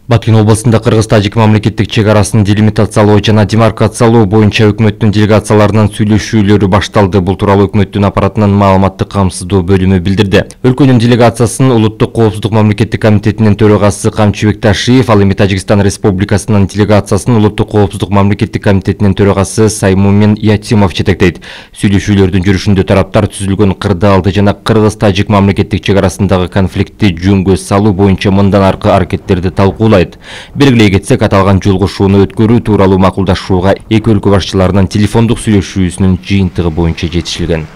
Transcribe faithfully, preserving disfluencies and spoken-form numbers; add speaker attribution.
Speaker 1: Бакин областында Кыргыз-Тажик мамлекеттик чек арасын делимитациялоо жана демаркациялоо боюнча өкмөттүн делегацияларынын сүйлөшүүлөрү башталды. Бул тууралуу өкмөттүн аппаратынын маалыматтык камсыздоо бөлүмү билдирди. Өлкөнүн делегациясын Улуттук коопсуздук мамлекеттик комитетинин төрагасы Камчыбек Ташиев, ал эми Тажикстан Республикасынын делегациясын Улуттук коопсуздук мамлекеттик комитетинин төрагасы Саймумин Ятимов жетектейт. Сүйлөшүүлөрдүн жүрүшүндө тараптар түзүлгөн кырдаалды жана Кыргыз-Тажик мамлекеттик чек арасындагы конфликтти жөнгө салуу боюнча мындан аркы аракеттерди талкуулайт. Белгилей кетсек, аталган жолугушууну өткөрүү тууралуу макулдашууга эки өлкө башчыларынын телефондук сүйлөшүүсүнүн жыйынтыгы боюнча жетишилген.